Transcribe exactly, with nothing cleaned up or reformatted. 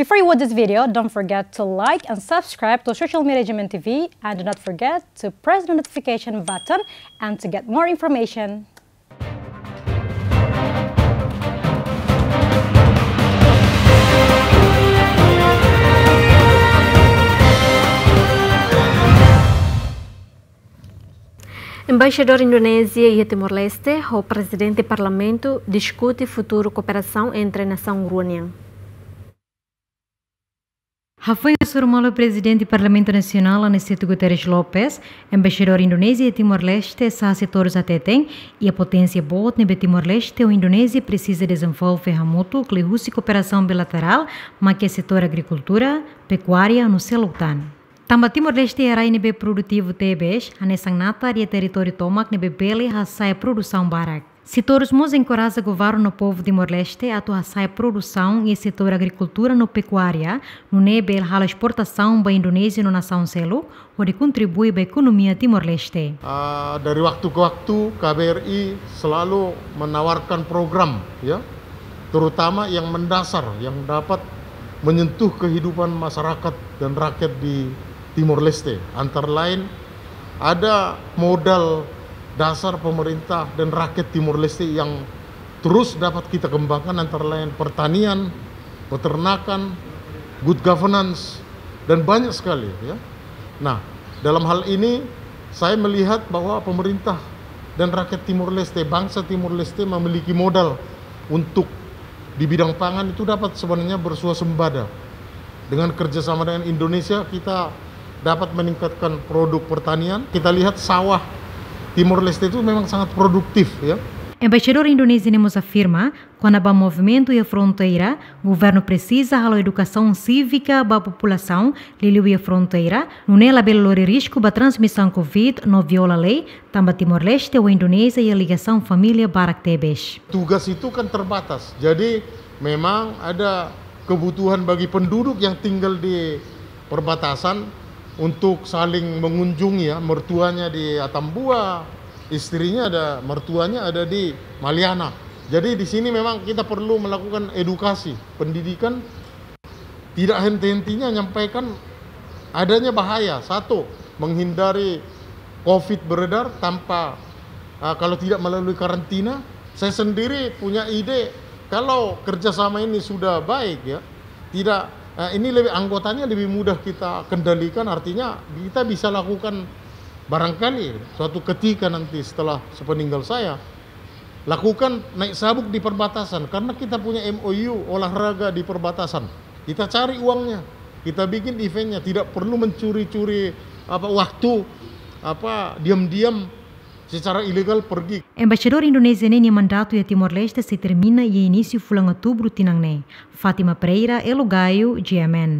Before you watch this video, don't forget to like and subscribe to Social Media G M N T V, and do not forget to press the notification button and to get more information. Embaixadór Indonézia iha Timor-Leste ho Prezidente Parlamentu diskute futuru kooperasaun entre nasaun rua nian. Hafoin hasoru malu Prezidente Parlamentu Nasionál Aniceto Guterres Lopes, Embaixadór Indonézia iha Timor-Leste, Saha Sitorus hateten, iha poténsia boot ne'ebé Timor-Leste ho Indonézia presiza dezenvolve hamutuk liuhusi kooperasaun bilaterál, mak iha setór agrikultura, pekuária no seluk tan. Tanba Timor-Leste iha rai ne'ebé produtivu tebes, hanesan natar iha territóriu tomak ne'ebé bele hasa'e produsaun barak. Sitorus mós enkoraja governu no povu Timor-Leste atu hasa'e produsaun iha setór agrikultura no pekuária, nune'e bele halo esportasaun ba Indonézia no nasaun seluk, hodi kontribui ba ekonomia Timor-Leste. Ah, dari waktu ke waktu, K B R I selalu menawarkan program, ya, terutama yang mendasar, yang dapat menyentuh kehidupan masyarakat dan rakyat di Timor-Leste. Antara lain, ada modal dasar pemerintah dan rakyat Timor-Leste yang terus dapat kita kembangkan, antara lain pertanian, peternakan, good governance, dan banyak sekali, ya. Nah, dalam hal ini saya melihat bahwa pemerintah dan rakyat Timor-Leste, bangsa Timor-Leste memiliki modal untuk di bidang pangan itu dapat sebenarnya bersuasembada. Dengan kerjasama dengan Indonesia, kita dapat meningkatkan produk pertanian. Kita lihat sawah Timor-Leste itu memang sangat produktif, ya. Embaixadór Indonézia ne'e mós afirma, kona-ba movimentu iha fronteira, governu presiza halo edukasaun sívika ba populasaun, liuliu iha fronteira, nune'e labele lori risku ba transmisaun covid no viola lei, tanba Timor-Leste ho Indonézia iha ligasaun família barak tebes. Tugas itu kan terbatas. Jadi, memang ada kebutuhan bagi penduduk yang tinggal di perbatasan untuk saling mengunjungi, ya, mertuanya di Atambua, istrinya ada, mertuanya ada di Maliana. Jadi, di sini memang kita perlu melakukan edukasi, pendidikan. Tidak henti-hentinya nyampaikan adanya bahaya. Satu, menghindari covid beredar tanpa, ah, kalau tidak melalui karantina. Saya sendiri punya ide, kalau kerjasama ini sudah baik, ya, tidak, eh, ini lebih, anggotanya lebih mudah kita kendalikan, artinya kita bisa lakukan barangkali suatu ketika nanti setelah sepeninggal saya, lakukan naik sabuk di perbatasan, karena kita punya M O U olahraga di perbatasan. Kita cari uangnya, kita bikin eventnya, tidak perlu mencuri-curi, apa, waktu, apa, diam-diam secara ilegal pergi. Embaixadór Indonézia ne'e nia mandatu iha Timor-Leste sei termina iha inísiu fulan Outubru tinan ne'e. Fátima Pereira, Elo Gaio, G M N.